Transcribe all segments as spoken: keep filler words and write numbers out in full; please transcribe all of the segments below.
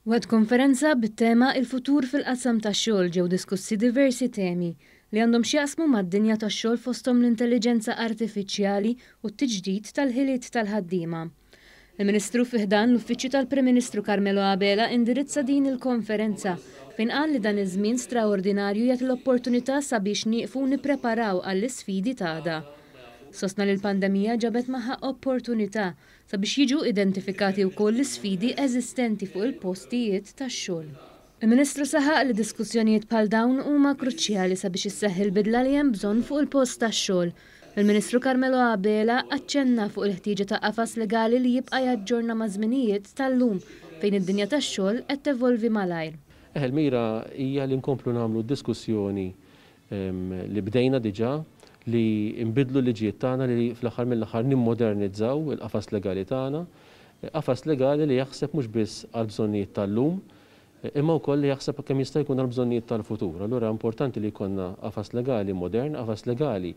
Waqt konferenza bit-tema "Il-futur fil-qasam tax-xogħol" ġew diskussi diversi temi li għandhom x'jaqsmu mad-dinja tax-xogħol, fosthom l-intelliġenza artifiċjali u t-tiġdid tal-ħiliet tal-ħaddiema. Il-Ministru fi ħdan l-Uffiċċju tal-Prim Ministru Carmelo Abela indirizza din il-konferenza, fejn qal li dan iż-żmien straordinarju jagħti l-opportunità sabiex nieqfu nippreparaw għall-isfidi ta' għada. Sostna li l-pandemija ġabet magħha opportunità sabiex jiġu identifikati wkoll l-isfidi eżistenti fuq il-postijiet tax-xogħol. Il-Ministru saħaq li diskussjonijiet bħal dawn huma kruċjali sabiex isseħħ il-bidla li hemm bżonn fuq il-post tax-xogħol. Il-Ministru Carmelo Abela aċċenna fuq il-ħtieġa ta' qafas legali li jibqa' jaġġorna ma' żminijiet tal-lum, fejn id-dinja tax-xogħol qed tevolvi malajr. Eh, il-mira hija li nkomplu nagħmlu diskussjoni li bdejna diġà, li nbidlu liġijiet tagħna, li fl-aħħar mill-aħħar nimmodernizzaw il-qafas legali tagħna, qafas legali li jaħseb mhux biss għal bżonnijiet tal-lum, imma wkoll li jaħseb kemm jista' jkun għal bżonnijiet tal-futur. Allura importanti li jkollna qafas legali modern, qafas legali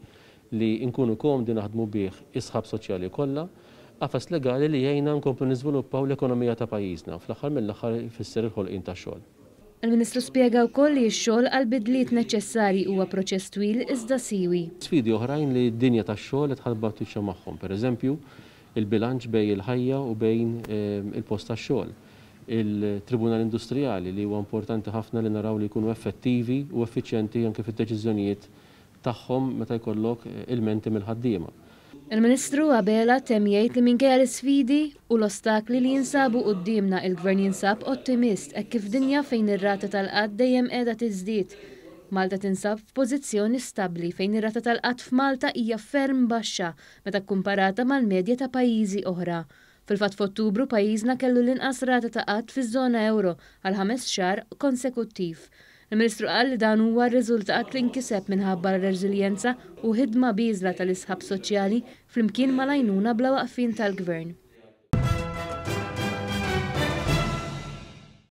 li nkunu komdi naħdmu bih is-sħab soċjali kollha, qafas legali li jgħinna nkomplu niżviluppaw l-ekonomija ta' pajjiżna, fl-aħħar mill-aħħar jfisser il-ħolqien tax-xogħol. Il-Ministru spjega wkoll li x-xogħol għal bidliet neċessarji huwa proċess twil iżda siwi. Sfidi oħrajn li d-dinja tax-xogħol qed tħabbat wiċċha magħhom, pereżempju il-bilanċ bejn il-ħajja u bejn ehm, il-post tax-xogħol. Il-Tribunal Industrijali, li huwa importanti ħafna li naraw li jkunu effettivi u effiċjenti anke fid-deċiżjonijiet tagħhom meta jkollok ilmenti mill-ħaddiema. Il-Ministru Abela temm jgħid li minkejja l-isfidi u l-ostakli li jinsabu quddiemna, il-Gvern jinsab ottimist hekk kif dinja fejn ir-rata tal-qgħad dejjem qiegħda tiżdied, Malta tinsab f'pożizzjoni stabbli, fejn ir-rata tal-qgħad f'Malta hija ferm baxxa meta kkumparata mal-medja ta' pajjiżi oħra. Fil-fatt, f'Ottubru pajjiżna kellu l-inqas rata ta' qgħad fiż-żona euro għal ħames xahar konsekuttiv. Il-Ministru qal li dan huwa r-riżultat li nkiseb minħabba r-reżiljenza u ħidma bieżla tal-isħab soċjali flimkien mal-għajnuna bla waqfin tal-Gvern.